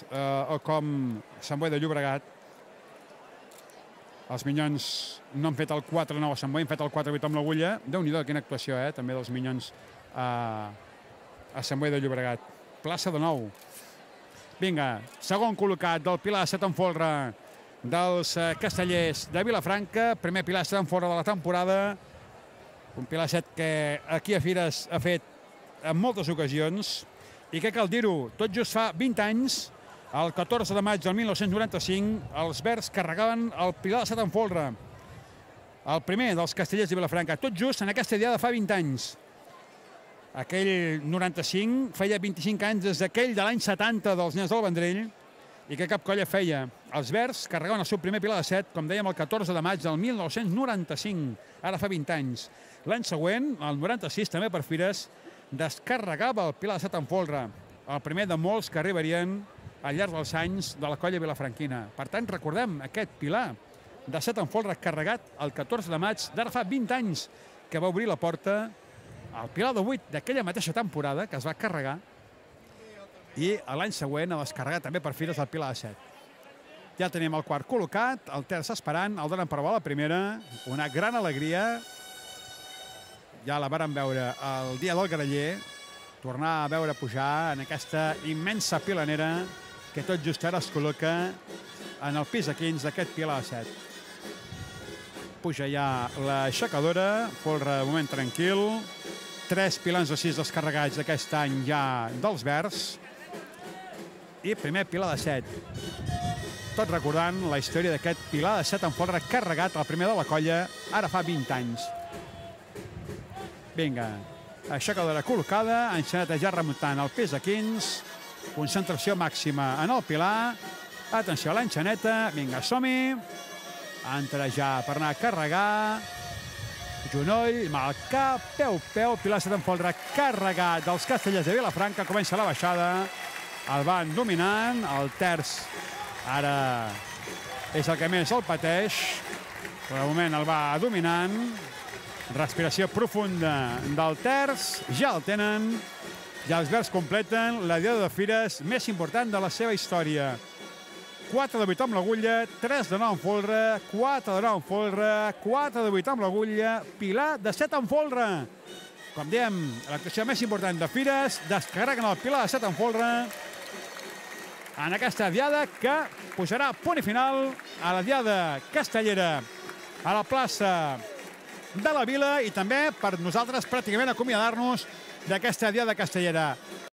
o com Sant Boi de Llobregat. Els Minyons no han fet el 4-9 a Sant Boi, han fet el 4-8 amb l'agulla. Déu-n'hi-do, quina actuació, també dels Minyons a Sant Boi de Llobregat. Plaça de nou. Vinga, segon col·locat del Pilar de Set en folre dels castellers de Vilafranca. Primer Pilar de Set en folre de la temporada. Un Pilar de Set que aquí a Fires ha fet en moltes ocasions i que cal dir-ho, tot just fa 20 anys, el 14 de maig del 1995, els verds carregaven el Pilar de Set en folre, el primer dels castellers de Vilafranca, tot just en aquesta diada fa 20 anys. Aquell 95 feia 25 anys des d'aquell de l'any 70 dels Nens del Vendrell i que cap colla feia. Els verds carregaven el seu primer Pilar de Set, com dèiem, el 14 de maig del 1995, ara fa 20 anys. L'any següent, el 96, també per Fires, descarregava el Pilar de Set en folre, el primer de molts que arribarien al llarg dels anys de la colla vilafranquina. Per tant, recordem aquest Pilar de Set en folre carregat el 14 de maig d'ara fa 20 anys, que va obrir la porta al Pilar de 8 d'aquella mateixa temporada que es va carregar i l'any següent a descarregar també per Fires el Pilar de Set. Ja tenim el quart col·locat, el terç esperant, el donen per bo la primera, una gran alegria. Ja la vàrem veure el dia del Graller, tornar a veure pujar en aquesta immensa pilanera que tot just ara es col·loca en el pis de 15 d'aquest Pilar de Set. Puja ja l'aixecadora, folre de moment tranquil, 3 pilans de 6 descarregats aquest any ja dels verds i primer Pilar de Set. Tot recordant la història d'aquest Pilar de Set en folre carregat, el primer de la colla, ara fa 20 anys. Vinga, aixecadora col·locada, enxaneta ja remuntant el pes de 15, concentració màxima en el Pilar, atenció a l'enxaneta, vinga, som-hi, entra ja per anar a carregar, genoll, mal cap, peu, Pilar de Set en folre carregat dels castellers de Vilafranca, comença la baixada, el van dominant, el terç ara és el que més el pateix, però de moment el va dominant, respiració profunda del terç, ja el tenen, ja els verds completen la diada de Fires més important de la seva història. 4 de 8 amb l'agulla, 3 de 9 en folre, 4 de 9 en folre, 4 de 8 amb l'agulla, Pilar de Set en folre. Com dèiem, l'actuació més important de Fires, descarreguen el Pilar de Set en folre en aquesta diada que posarà punt i final a la diada castellera a la plaça de la Vila i també per nosaltres pràcticament acomiadar-nos d'aquesta diada castellera.